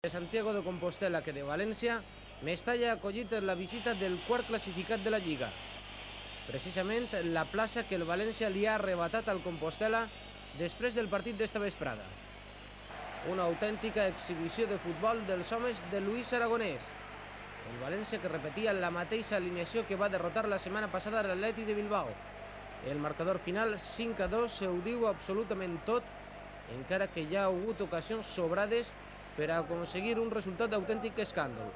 de Santiago de Compostela que de València, Mestalla ha acollit la visita del quart classificat de la Lliga. Precisament la plaça que el València li ha arrebatat al Compostela després del partit d'esta vesprada. Una autèntica exhibició de futbol dels homes de Luis Aragonès. El València que repetia la mateixa alineació que va derrotar la setmana passada l'Atleti de Bilbao. El marcador final 5-2 ho diu absolutament tot, encara que hi ha hagut ocasions sobrades per a aconseguir un resultat d'autèntic escàndol.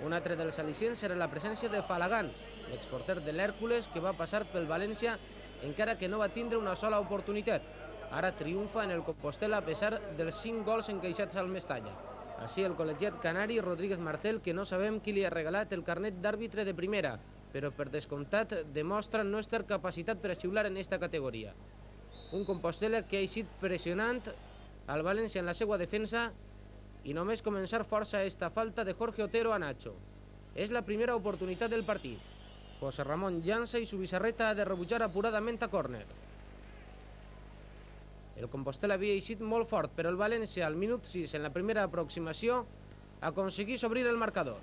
Un altre dels al·licients era la presència de Falagan, l'exporter de l'Hèrcules, que va passar pel València encara que no va tindre una sola oportunitat. Ara triomfa en el Compostela a pesar dels 5 gols encaixats al Mestalla. Així el col·legiat canari Rodríguez Martel, que no sabem qui li ha regalat el carnet d'àrbitre de primera, però per descomptat demostra no estar capacitat per a xiular en esta categoria. Un Compostela que ha eixit pressionant al València en la seva defensa i només començar força esta falta de Jorge Otero a Nacho. És la primera oportunitat del partit. José Ramón llança i Subisarreta ha de rebutjar apuradament a córner. El Compostela havia eixit molt fort, però el València al minut 6 en la primera aproximació aconseguís obrir el marcador.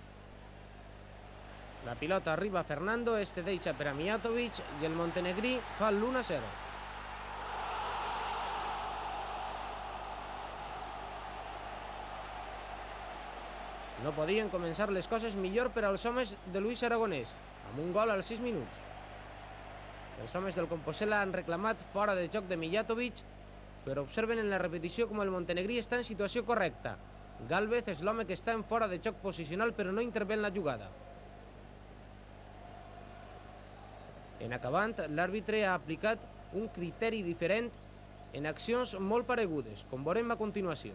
La pilota arriba a Fernando, este deixa per a Mijatovic i el montenegrí fa l'1-0. No podien començar les coses millor per als homes de Luis Aragonès, amb un gol als 6 minuts. Els homes del Compostela han reclamat fora de joc de Mijatovic, però observen en la repetició com el montenegrí està en situació correcta. Gálvez és l'home que està en fora de joc posicional però no intervé en la jugada. En acabant, l'àrbitre ha aplicat un criteri diferent en accions molt paregudes, com veurem a continuació.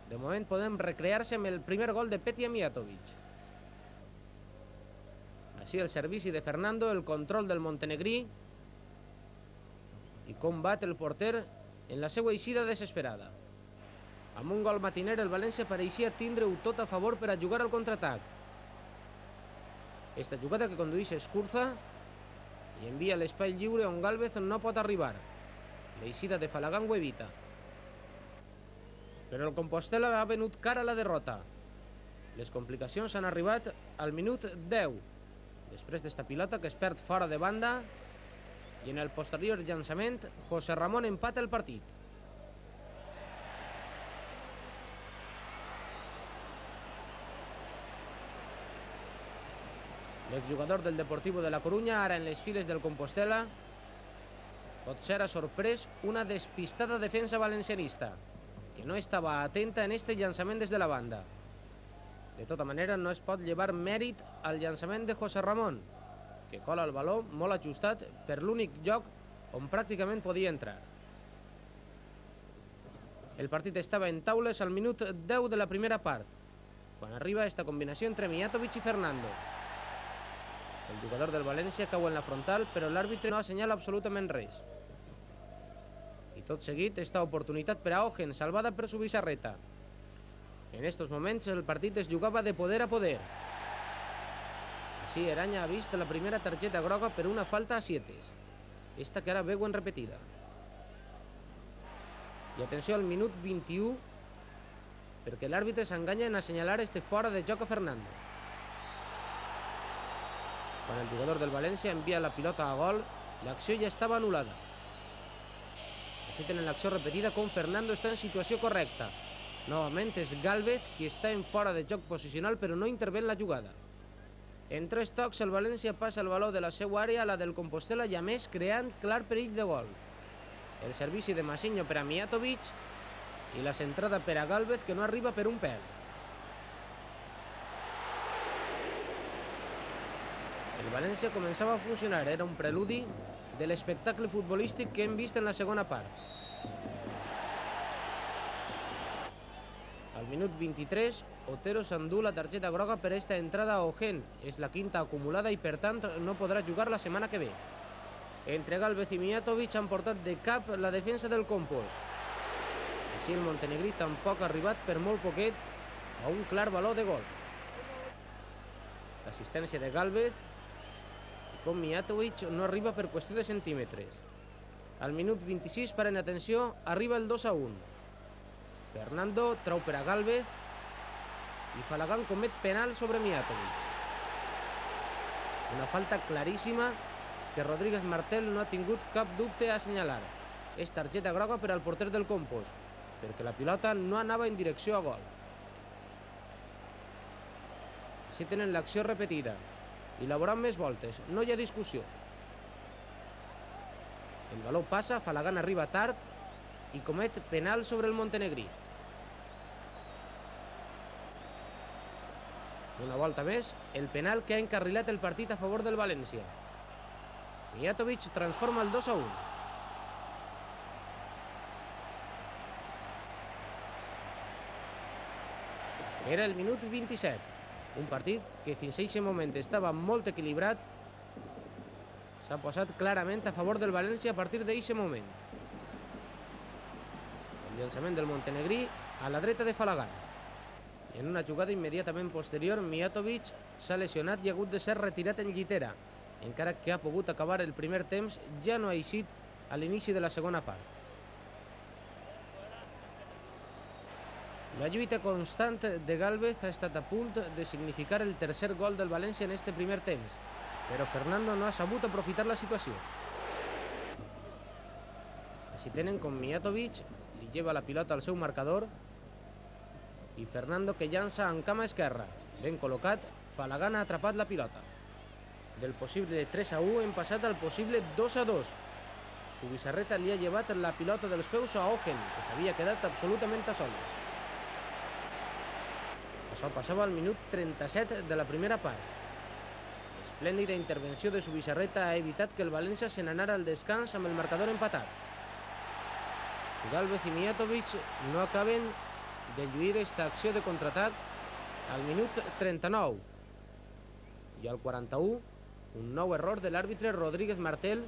De moment podem recrear-se amb el primer gol de Petja Mijatovic. Així el servici de Fernando, el control del montenegrí i combat el porter en la seva eixida desesperada. Amb un gol matiner el València pareixia tindre-ho tot a favor per a jugar al contraatac. Esta jugada que condueix Escurza i envia l'espai lliure on Gálvez no pot arribar. L'eixida de Falagan ho evita. Però el Compostela ha venut cara a la derrota. Les complicacions han arribat al minut 10, després d'esta pilota que es perd fora de banda, i en el posterior llançament, José Ramón empata el partit. L'exjugador del Deportivo de la Coruña, ara en les files del Compostela, pot ser a sorprès una despistada defensa valencianista, que no estava atenta en este llançament des de la banda. De tota manera, no es pot llevar mèrit al llançament de José Ramón, que cola el baló molt ajustat per l'únic lloc on pràcticament podia entrar. El partit estava en taules al minut 10 de la primera part, quan arriba esta combinació entre Mijatovic i Fernando. El jugador del València cau en la frontal, però l'àrbitre no assenyala absolutament res. I tot seguit, esta oportunitat per a Ogen, salvada per Subisarreta. En estos moments el partit es jugava de poder a poder. Així Eraña ha vist la primera targeta groga per una falta a Sietes. Esta que ara veuen repetida. I atenció al minut 21, perquè l'àrbitre s'enganya en assenyalar este fora de joc a Fernando. Quan el jugador del València envia la pilota a gol, l'acció ja estava anul·lada. Així tenen l'acció repetida com Fernando està en situació correcta. Novament és Gálvez qui està en fora de joc posicional però no intervé en la jugada. En 3 tocs el València passa el baló de la seva àrea a la del Compostela i a més creant clar perill de gol. El servici de Masinho per a Mijatovic i la centrada per a Gálvez que no arriba per un pèl. El València començava a funcionar, era un preludi de l'espectacle futbolístic que hem vist en la segona part. Al minut 23, Otero s'endú la targeta groga per esta entrada a Ogen. És la quinta acumulada i per tant no podrà jugar la setmana que ve. Entre Gálvez i Mijatovic han portat de cap la defensa del Compost. Així el montenegrí tampoc ha arribat per molt poquet a un clar valor de gol. L'assistència de Gálvez com Mijatovic no arriba per qüestió de centímetres. Al minut 26, paren atenció, arriba el 2-1. Fernando trau per a Gálvez i Falagan comet penal sobre Mijatovic. Una falta claríssima que Rodríguez Martel no ha tingut cap dubte a assenyalar. És targeta groga per al porter del Compos, perquè la pilota no anava en direcció a gol. Així tenen l'acció repetida i la veuran més voltes, no hi ha discussió. El baló passa, Falagan arriba tard i comet penal sobre el montenegrí. Una volta més, el penal que ha encarrilat el partit a favor del València. Mijatovic transforma el 2-1. Era el minut 27. Un partit que fins a aquest moment estava molt equilibrat s'ha posat clarament a favor del València a partir d'aquest moment. El llançament del montenegrí a la dreta de Falagan. I en una jugada immediatament posterior, Mijatovic s'ha lesionat i ha hagut de ser retirat en llitera, encara que ha pogut acabar el primer temps, ja no ha eixit a l'inici de la segona part. La lluita constant de Gálvez ha estat a punt de significar el tercer gol del València en este primer temps, però Fernando no ha sabut aprofitar la situació. Així tenen com Mijatovic li lleva la pilota al seu marcador i Fernando que llança en cama esquerra. Ben col·locat, Falagan ha atrapat la pilota. Del possible 3-1 hem passat al possible 2-2. Subisarreta li ha llevat la pilota dels peus a Ogen, que s'havia quedat absolutament a soles. Això passava al minut 37 de la primera part. L'esplèndida intervenció de Subisarreta ha evitat que el València se n'anara al descans amb el marcador empatat. Gálvez i Mijatovic no acaben de lluir esta acció de contraatac al minut 39. I al 41, un nou error de l'àrbitre Rodríguez Martel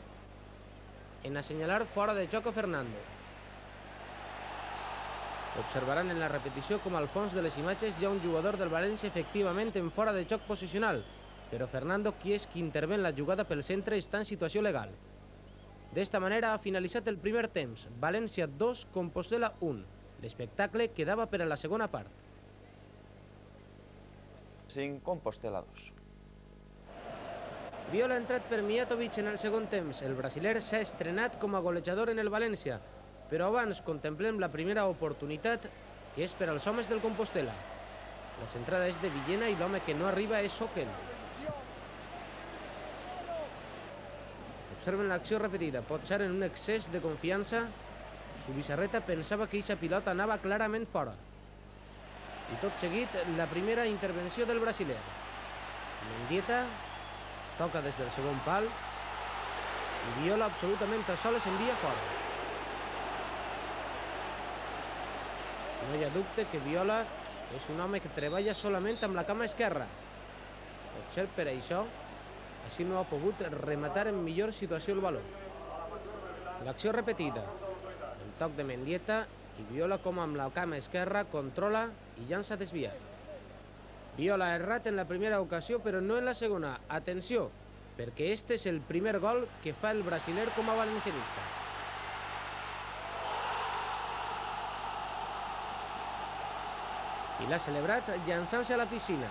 en assenyalar fora de joc a Fernando. Observaran en la repetició com al fons de les imatges hi ha un jugador del València efectivament en fora de joc posicional, però Fernando, qui és qui intervé en la jugada pel centre, està en situació legal. D'esta manera ha finalitzat el primer temps. València 2, Compostela 1. L'espectacle quedava per a la segona part. 5, Compostela 2. Viola ha entrat per Mijatovic en el segon temps. El brasiler s'ha estrenat com a golejador en el València, però abans contemplem la primera oportunitat, que és per als homes del Compostela. La centrada és de Villena i l'home que no arriba és Ogen. Observen l'acció repetida. Pot ser en un excés de confiança. Subisarreta pensava que aquesta pilota anava clarament fora. I tot seguit, la primera intervenció del brasiler. Mendieta toca des del segon pal i Viola absolutament a soles envia fora. No hi ha dubte que Viola és un home que treballa solament amb la cama esquerra. Potser per això, així no ha pogut rematar en millor situació el baló. L'acció repetida. El toc de Mendieta i Viola com amb la cama esquerra controla i llança desviat. Viola ha errat en la primera ocasió però no en la segona. Atenció, perquè este és el primer gol que fa el brasiler com a valencianista. I l'ha celebrat llançant-se a la piscina.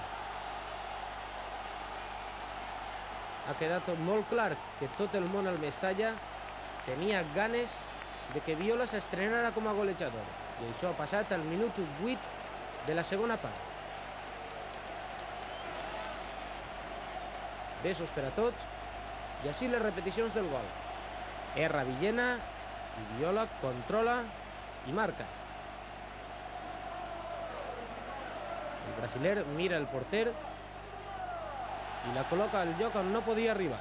Ha quedat molt clar que tot el món al Mestalla tenia ganes de que Viola s'estrenara com a golejador. I això ha passat al minut 8 de la segona part. Besos per a tots i així les repeticions del gol. Erra Villena i Viola controla i marca. El brasiler mira el porter i la col·loca al lloc on no podia arribar.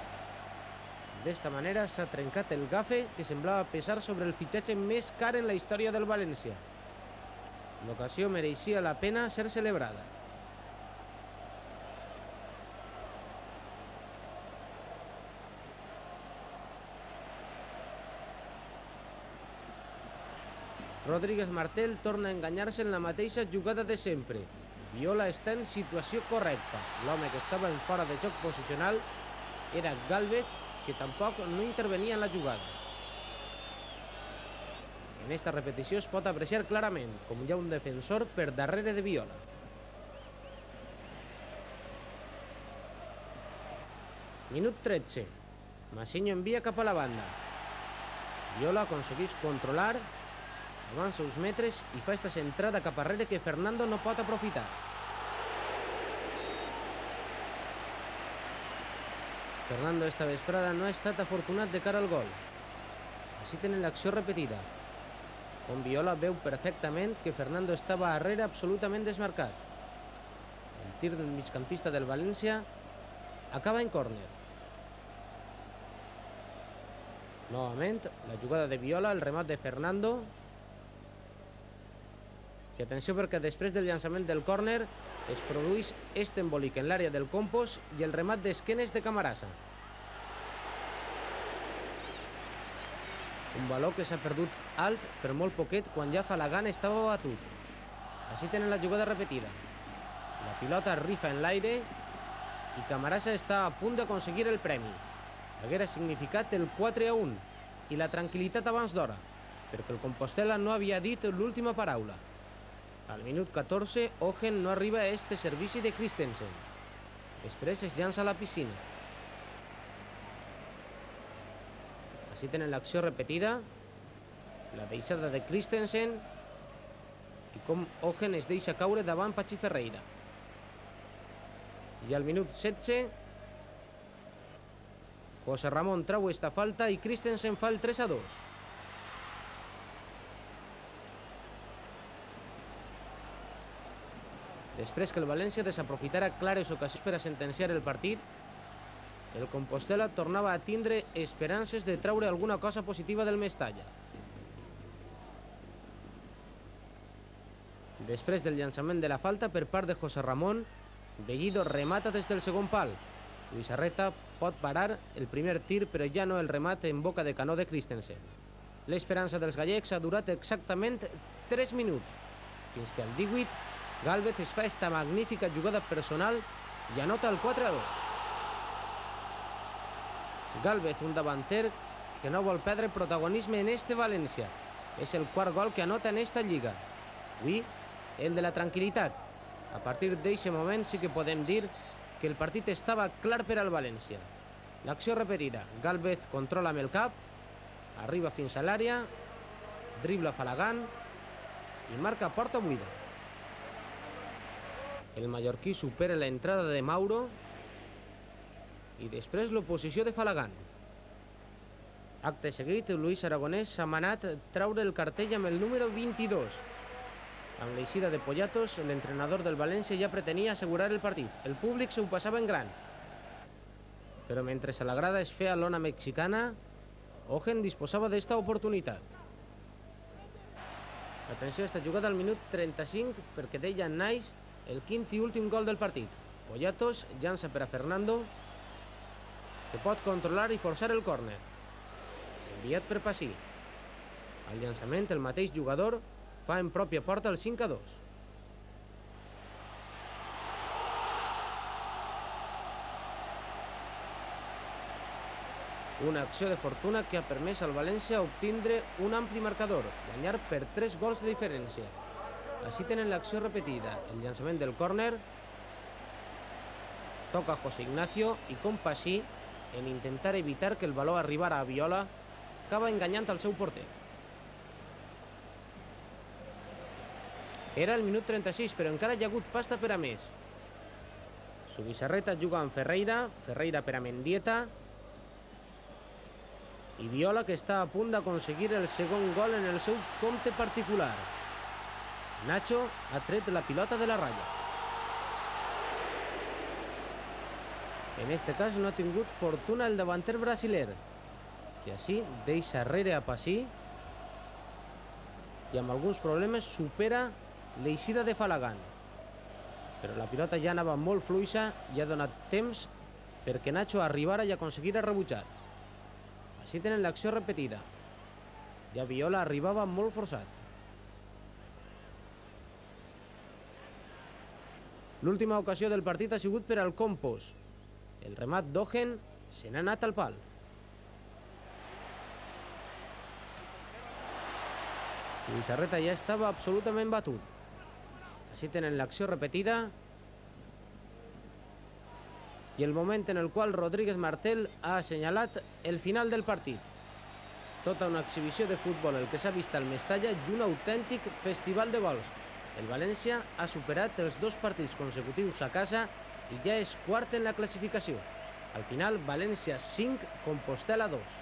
D'esta manera s'ha trencat el gafe que semblava pesar sobre el fitxatge més car en la història del València. L'ocasió mereixia la pena ser celebrada. Rodríguez Martel torna a enganyar-se en la mateixa jugada de sempre. Viola està en situació correcta. L'home que estava en fora de joc posicional era Gálvez, que tampoc no intervenia en la jugada. En esta repetició es pot apreciar clarament com hi ha un defensor per darrere de Viola. Minut 13. Massinho envia cap a la banda. Viola aconsegueix controlar, avança uns metres i fa esta centrada cap arrere que Fernando no pot aprofitar. Fernando esta vesprada no ha estat afortunat de cara al gol. Així tenen l'acció repetida. On Viola veu perfectament que Fernando estava arrere absolutament desmarcat. El tir del migcampista del València acaba en córner. Novament, la jugada de Viola, el remat de Fernando. I atenció perquè després del llançament del córner es produeix este embolic en l'àrea del Campos i el remat d'esquenes de Camarasa. Un valor que s'ha perdut alt per molt poquet quan ja Falagan estava batut. Així tenen la jugada repetida. La pilota rifa en l'aire i Camarasa està a punt d'aconseguir el premi. Haguera significat el 4-1 i la tranquil·litat abans d'hora, perquè el Compostela no havia dit l'última paraula. Al minut 14, Ogen no arriba a este servici de Christensen. Després es llança a la piscina. Així tenen l'acció repetida, la deixada de Christensen i com Ogen es deixa caure davant Pachi Ferreira. I al minut 16, José Ramón trau esta falta i Christensen fa el 3-2. Després que el València desaprofitara clares ocasions per a sentenciar el partit, el Compostela tornava a tindre esperances de traure alguna cosa positiva del Mestalla. Després del llançament de la falta per part de José Ramón, Bellido remata des del segon pal. Zubizarreta pot parar el primer tir, però ja no el remat en boca de canó de Christensen. L'esperança dels gallecs ha durat exactament 3 minuts, fins que al 18 Gálvez es fa esta magnífica jugada personal i anota el 4-2. Gálvez, un davanter que no vol perdre protagonisme en este València. És el quart gol que anota en esta lliga. Avui, el de la tranquil·litat. A partir d'aquest moment sí que podem dir que el partit estava clar per al València. L'acció repetida. Gálvez controla amb el cap, arriba fins a l'àrea, dribla Falagan i marca porta buida. El mallorquí supera l'entrada de Mauro i després l'oposició de Falagan. Acte seguit, Luis Aragonès s'ha manat traure el cartell amb el número 22. Amb l'eixida de Poyatos, l'entrenador del València ja pretenia assegurar el partit. El públic s'ho passava en gran. Però mentre a la grada es feia l'ona mexicana, Ogen disposava d'esta oportunitat. Atenció a esta jugada al minut 35 perquè deia Nais el quint i últim gol del partit. Poyatos llança per a Fernando, que pot controlar i forçar el córner. Enviat per Passí. Al llançament, el mateix jugador fa en pròpia porta el 5-2. Una acció de fortuna que ha permès al València obtindre un ampli marcador, guanyar per 3 gols de diferència. Així tenen l'acció repetida. El llançament del córner toca José Ignacio i com Passí, en intentar evitar que el valor arribara a Viola, acaba enganyant el seu porter. Era el minut 36, però encara hi ha hagut pasta per a més. Zubizarreta juga amb Ferreira, Ferreira per a Mendieta i Viola, que està a punt d'aconseguir el segon gol en el seu compte particular. Nacho ha tret la pilota de la ratlla. En este cas no ha tingut fortuna el davanter brasiler, que així deixa arrere a Passí i amb alguns problemes supera l'eixida de Falagan. Però la pilota ja anava molt fluixa i ha donat temps perquè Nacho arribara i aconseguira rebutjar. Així tenen l'acció repetida. Ja Viola arribava molt forçat. L'última ocasió del partit ha sigut per al Campos. El remat d'Ogen se n'ha anat al pal. Zubizarreta ja estava absolutament batut. Així tenen l'acció repetida. i el moment en el qual Rodríguez Martel ha assenyalat el final del partit. Tota una exhibició de futbol el que s'ha vist al Mestalla i un autèntic festival de gols. El València ha superat els 2 partits consecutius a casa i ja és quart en la classificació. Al final, València 5, Compostel·la 2.